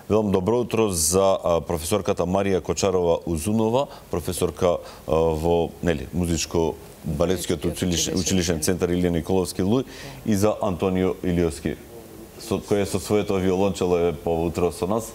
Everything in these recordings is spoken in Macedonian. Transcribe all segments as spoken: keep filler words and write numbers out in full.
Велам добро утро за професорката Марија Кочарова-Узунова, професорка во нели музичко балетскиот училишен, училишен центар Илија Николовски Луј, и за Антонио Илиовски, со кој со своето виолончело е поутро со нас.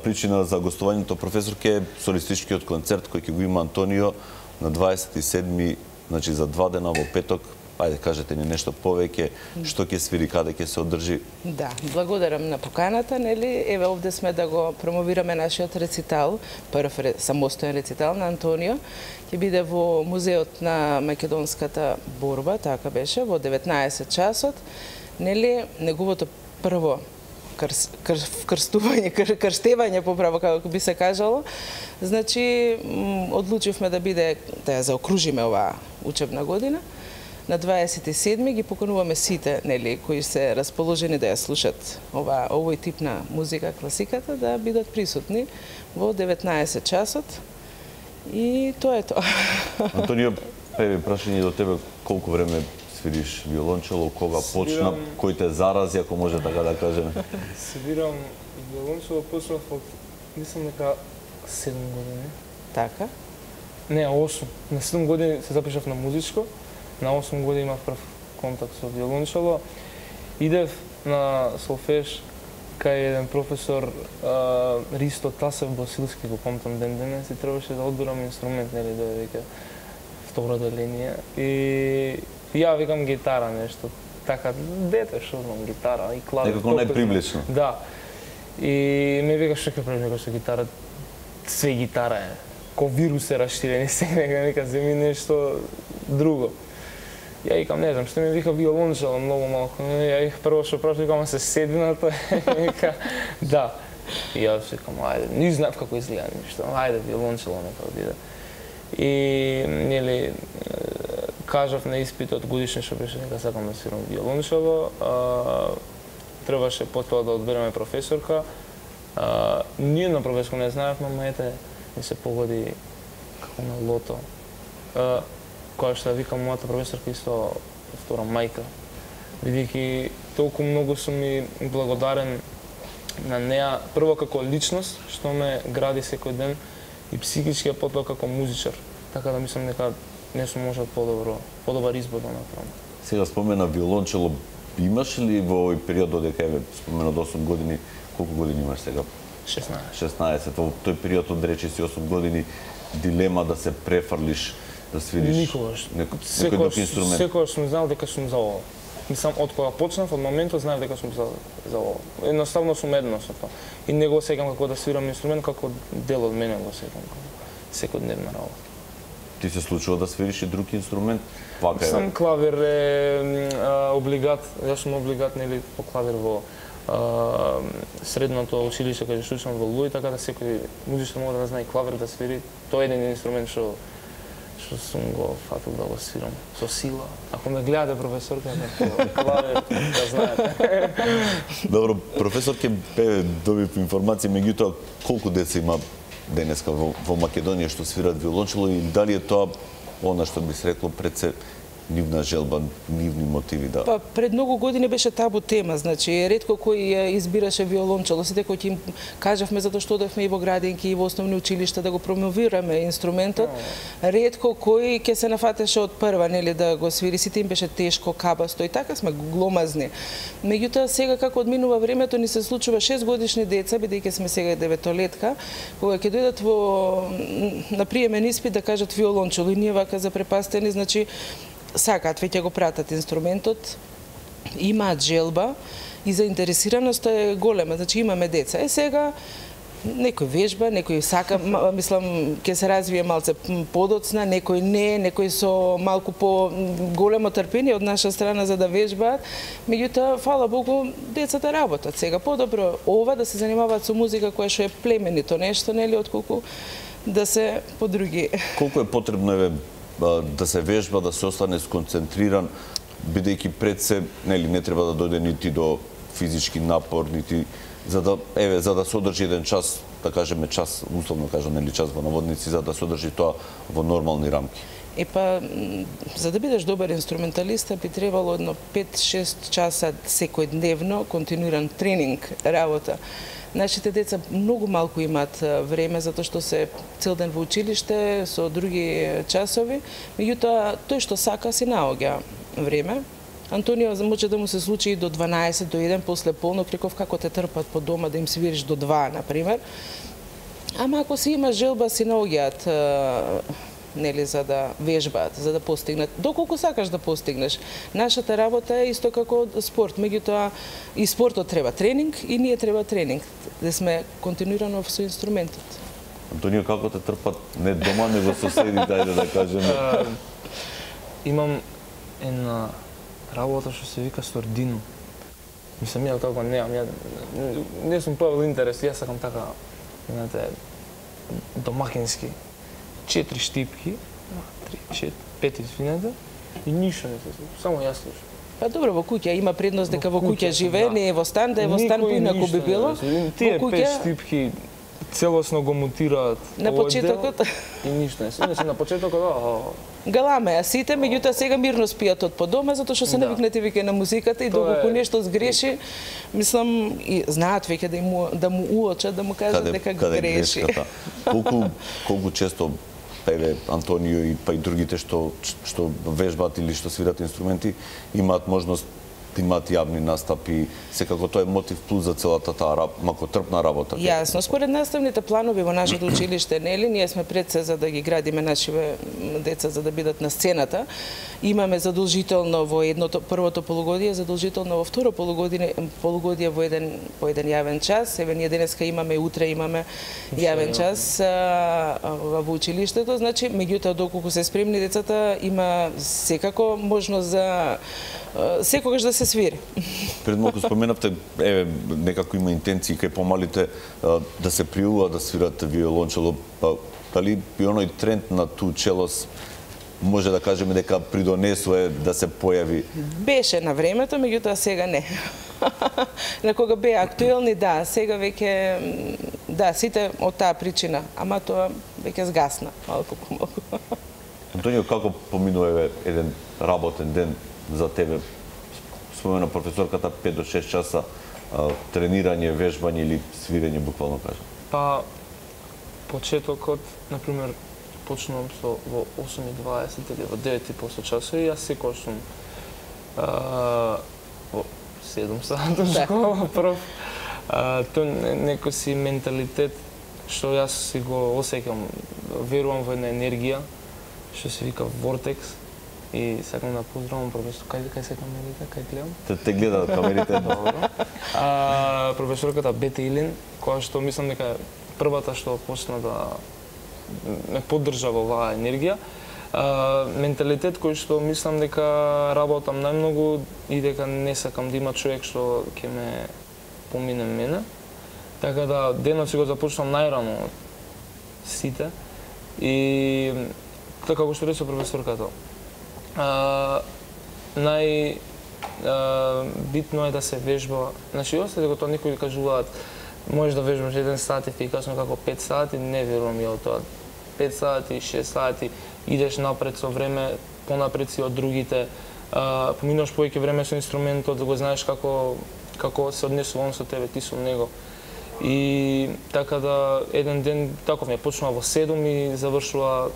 Причина за гостувањето професорке е солистичкиот концерт кој ќе го има Антонио на дваесет и седми, значи за два дена во петок. Ајде, кажете ни нешто повеќе, што ќе свири, каде ќе се одржи? Да, благодарам на поканата, нели? Еве овде сме да го промовираме нашиот рецитал, прв самостоен рецитал на Антонио. Ќе биде во музеот на македонската борба, така беше, во деветнаесет часот. Нели, неговото прво крс, кр, крстување, кр, крштевање поправо како би се кажало. Значи, одлучивме да биде да ја заокружиме оваа учебна година. На дваесет и седми ги покануваме сите, нели, кои се расположени да ја слушат ова овој тип на музика, класиката, да бидат присутни во деветнаесет часот. И тоа е тоа. Антонио, први прашање до тебе, колку време свириш виолончело, кога почна, кој те зарази, ако може така да кажеме? Свирам виолончело, почнав од, мислам дека седум години. Така? Не, осум. На седум години се запишав на музичко. На осум години имав прв контакт со виолончело. Идев на солфеж кај еден професор а, Ристо Тасев Босилски, го помтам ден денес, и требаше да одбирам инструмент, нели, да вика втората линија. И ја викам гитара нешто. Така, дете, што знам, гитара и клавир. Некако најприближно. Да. И ме вика што ќе правиш со гитара? Све гитара е. Ко вирус е раштирен, се нека вика земи нешто друго. Ја викам, не знам, што ми вика виолончело многу малку. Ја их прво што прашав, викам, се седината, вика, да. И јас викам, ајде, не знав како изгледа ништо, ајде, виолончело нека биде. И, нели, кажав на испитот годишен што беше дека сакам да свирам виолончело, требаше потоа да одбереме професорка. Ние на професорка не знаевме, ама ете, ми се погоди како на лото. Која што викам мојата професорка исто втора мајка, бидејќи толку многу сум ми благодарен на неа, прво како личност, што ме гради секој ден, и психички, а потоа како музичар. Така да мислам дека не сум можел подобро, подобар избор да направам. Сега спомена виолончело, имаш ли во овој период додека е спомена од осум години, колку години имаш сега? шеснаесет. шеснаесет. Во тој период од речи си осум години, дилема да се префрлиш, да свириш никогаш. Некој, некој друг инструмент? Секогаш сум знал дека сум за ова. Мислам, од кога почнав, од моментот знаев дека сум за, за ова. Едноставно сум едно со тоа. И не го сеќам како да свирам инструмент, како дел од мене го сеќам, како секојдневна работа. Ти се случува да свириш и друг инструмент? Вака е. Сам клавир е а, облигат, јас сум облигат, нели, по клавир во а, средното училиште каде што учам во Луј, така да секој музичар може да знае клавир да свири. Тоа е еден инструмент што што сум го фатил да го свирам со сила. Ако ме гледате професорка, клавир да знаете. Добро, професорке, добив информација, меѓутоа колку деца има денеска во, во Македонија што свират виолончело, и дали е тоа она што би се рекло пред се нивна желба, нивни мотиви да... Па, пред многу години беше табу тема, значи, ретко кој избираше виолончело. Сите кои ќе им кажавме, затоа што одевме и во градинки, и во основни училишта да го промовираме инструментот, ретко кој ќе се нафатеше од прва, нели, да го свири. Сите им беше тешко, кабасто, и така сме гломазни. Меѓутоа, сега како одминува времето, ни се случува шест годишни деца, бидејќи сме сега деветолетка, кога ќе дојдат во на приемен испит да кажат виолончело, и ние вака запрепастени, значи, сакаат, веќе го пратат инструментот, имаат желба и заинтересираноста е голема, значи имаме деца. Е сега некој вежба, некој сака, мислам, ќе се развие малце подоцна, некој не, некој со малку по големо трпение од наша страна за да вежбаат. Меѓутоа, фала Богу, децата работат сега. Подобро ова да се занимаваат со музика која што е племенито нешто, нели, отколку да се по други. Колку е потребно еве да се вежба, да се остане сконцентриран, бидејќи пред се, нели, не треба да дојде нити до физички напор, нити за да еве за да се одржи еден час, да кажеме час, условно кажам, нели, час во наводници, за да се одржи тоа во нормални рамки. Е па, за да бидеш добар инструменталиста, би требало едно пет-шест часа секојдневно континуиран тренинг, работа. Нашите деца многу малку имаат време, затоа што се цел ден во училиште, со други часови, меѓутоа, тој што сака си наоѓа време. Антонио може да му се случи и до дванаесет, до еден, после полнок, реков како те трпат по дома да им свириш до два, например. Ама ако си има желба, си наоѓаат, нели, за да вежбаат, за да постигнат, доколку сакаш да постигнеш. Нашата работа е исто како спорт, меѓутоа и спортот треба тренинг и ние треба тренинг, да сме континуирано со инструментот. Антонио, како те трпат не дома, него соседите, ајде да кажеме? Имам една работа што се вика Сордино. Мислам, ја како неам, ја не сум појавил интерес, јас сакам така, знаете, домакински. Четири штипки, три, четири, пет, извинете, и ништо не се случи, само јас слушам. Па добро, во куќа има предност дека во куќа живее, не е во стан, да е во стан поинаку би било. Тие пет штипки целосно го мутираат на почетокот и ништо не се. Иначе на почетокот, а галаме, а сите, меѓутоа сега мирно спијат од по дома, затоа што се навикнати веќе на музиката и доколку нешто сгреши, мислам, и знаат веќе да му да му уочат, да му кажат дека греши. Колку колку често еве Антонио и па и другите што што вежбаат или што свират инструменти имаат можност да имаат јавни настапи, секако тоа е мотив плюс за целата таа макотрпна работа. Јасно, според наставните планови во нашето училиште, нели, ние сме пред се за да ги градиме нашите деца за да бидат на сцената. Имаме задолжително во едното првото полугодие, задолжително во второ полугодие, полугодие во еден по еден јавен час. Еве ние денеска имаме, утре имаме јавен час а, во училиштето, значи меѓутоа доколку се спремни децата има секако можност за секогаш да се свири. Пред малку споменавте, еве, некако има интенции кај помалите да се пријуваа да свират виолончело, па дали и оној тренд на ту челос може да кажеме дека придонесува да се појави? Беше на времето, меѓутоа сега не. На кога беа актуелни, да, сега веќе, да, сите од таа причина, ама тоа веќе сгасна, малку по малку. Антонио, како поминува еден работен ден за тебе? Спомена професорката пет до шест часа а, тренирање, вежбање или свирење, буквално кажа. Па, почетокот, например, почнувам со во осум и дваесет или во девет и после часови, јас секој сум а, во седум сата школа, прв. А, тој некој си менталитет што јас си го осеќам, верувам во една енергија што се вика вортекс. И сакам да поздравам професор, кај кај се камерите, кај гледам? Те те гледаат камерите, добро. А професорката Бета Илин, која што мислам дека првата што почна да ме поддржа во оваа енергија, а, менталитет кој што мислам дека работам најмногу и дека не сакам да има човек што ќе ме помине мене. Така да денот си го започнам најрано од сите и така како што рече професорката. Uh, нај uh, битно е да се вежба. Значи, осте дека тоа некои кажуваат можеш да вежбаш еден сат ефикасно како пет сати, не верувам ја од тоа. пет сати, шест сати, идеш напред со време, понапред си од другите, uh, поминуваш повеќе време со инструментот, да го знаеш како како се однесува он со тебе, ти со него. И така да еден ден таков ми почнува во седум и завршува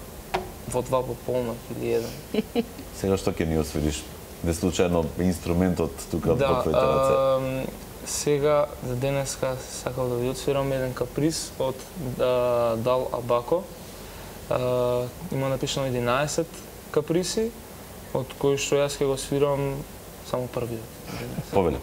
во два пополнок или еден. Сега што ќе ни освириш? Не случајно инструментот тука да, во твоите раце? А, сега, за денеска, сакал да ви отсвирам еден каприз од а, Дал Абако. А, има напишано единаесет каприси, од кои што јас ќе го свирам само првиот. Повеле.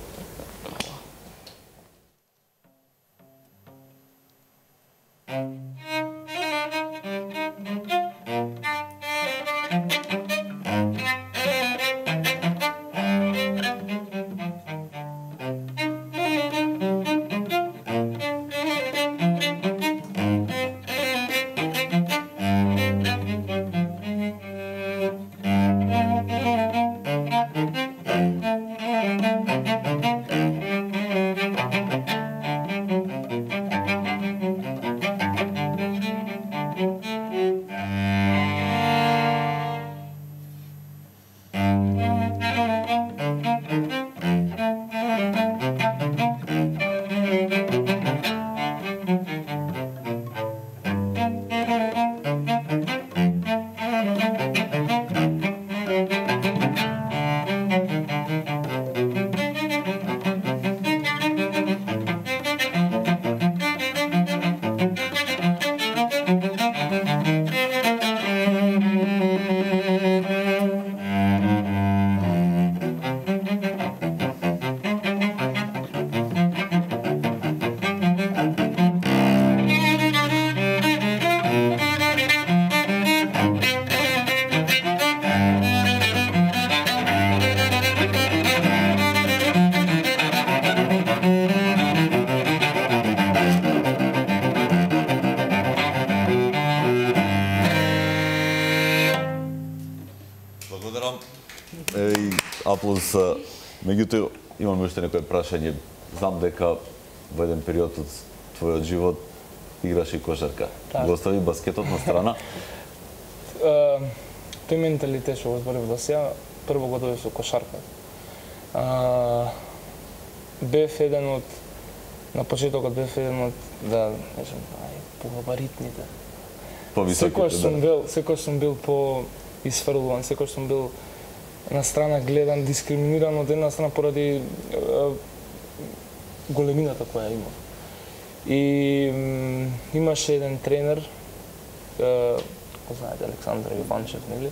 аплауз. Меѓутоа, имаме уште некој прашање. Знам дека во еден период од твојот живот играше кошарка. Го остави баскетот на страна? Тој менталитет што го зборив до сега, прво го дојде со кошарка. Бев еден од, на почетокот бев еден од, да, нешам, ај, погабаритните. Секој сум бил, секој сум бил по исфрлуван, секој сум бил на страна гледан, дискриминиран од една страна поради големината која има. И м, имаше еден тренер, го знаете, Александар Јованчев, нели,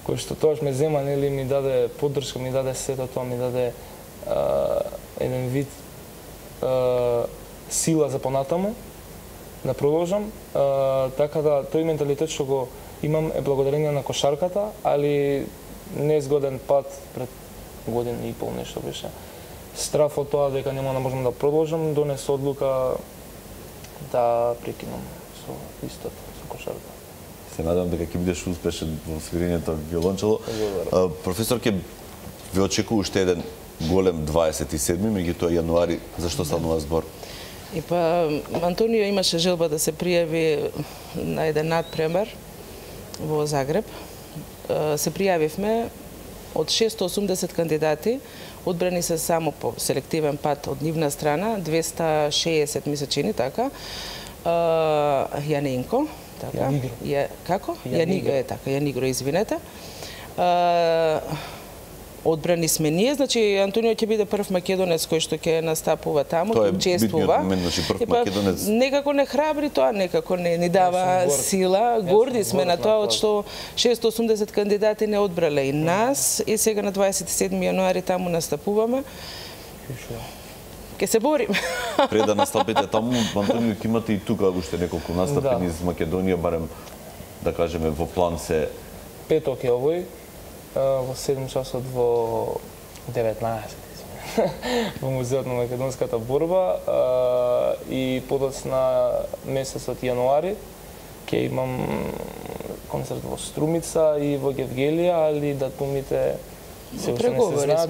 кој што тоаш ме зема, нели, ми даде поддршка, ми даде сето тоа, ми даде а, еден вид а, сила за понатаму, да продолжам. А, така да, тој менталитет што го имам е благодарение на кошарката, али незгоден пат пред година и пол нешто беше. Страф од тоа дека нема да можам да продолжам, донесе одлука да прекинам со истот, со кошарка. Се надевам дека ќе бидеш успешен во свирењето виолончело. Професор, ќе ве очекува уште еден голем дваесет и седми, меѓутоа јануари, зашто станува збор? И па Антонио имаше желба да се пријави на еден надпремер во Загреб. Се пријавивме од шестоосумдесет кандидати, одбрани се само по селективен пат од нивна страна, двеста и шеесет ми се чини, така. Јанинко, така. Јанигро. Ја, како? Јанигро е така, Јанигро, извинете. А, одбрани сме ние, значи Антонио ќе биде прв македонец кој што ќе настапува таму, тоа е учествува. Момент, значи прв македонец. Некако не храбри тоа, некако не ни дава сила. Горди сме на тоа од што шестоосумдесет кандидати не одбрале и нас, и сега на дваесет и седми јануари таму настапуваме. Ке се борим. Пред да настапите таму, Антонио, ќе имате и тука уште неколку настапи Да. низ Македонија, барем да кажеме во план се. Петок е овој, во седум часот во деветнаесет, во Музеот на македонската борба, и подоцна месецот јануари ќе имам концерт во Струмица и во Гевгелија, али датумите се уште не се знаат,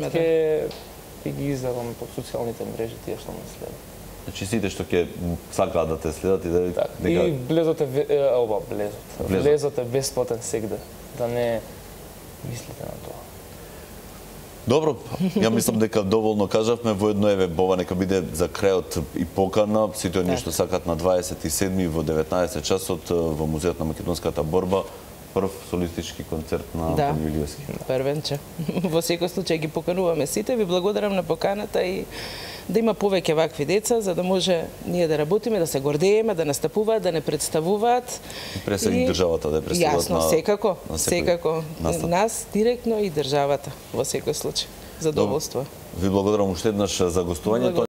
ќе ги издавам по социјалните мрежи тие што ме следат. Значи сите што ќе сакаат да те следат и да Так, дека... И блезот е ова блезот. Блезот. Блезот е бесплатен сегде, да не мислите на тоа. Добро, ја мислам дека доволно кажавме, воедно еве Бова нека биде за крајот и покана, сите оние што сакат на дваесет и седми во деветнаесет часот во Музеот на македонската борба, прв солистички концерт на Антонио Илиевски. Првенче. Во секој случај ги покануваме сите, ви благодарам на поканата и да има повеќе вакви деца, за да може ние да работиме, да се гордееме, да настапуваат, да не представуваат. Пресега и државата да ја представуваат на... Јасно, секако, на секако. настап. Нас директно и државата, во секој случај. Задоволство. Ви благодарам уште еднаш за гостувањето.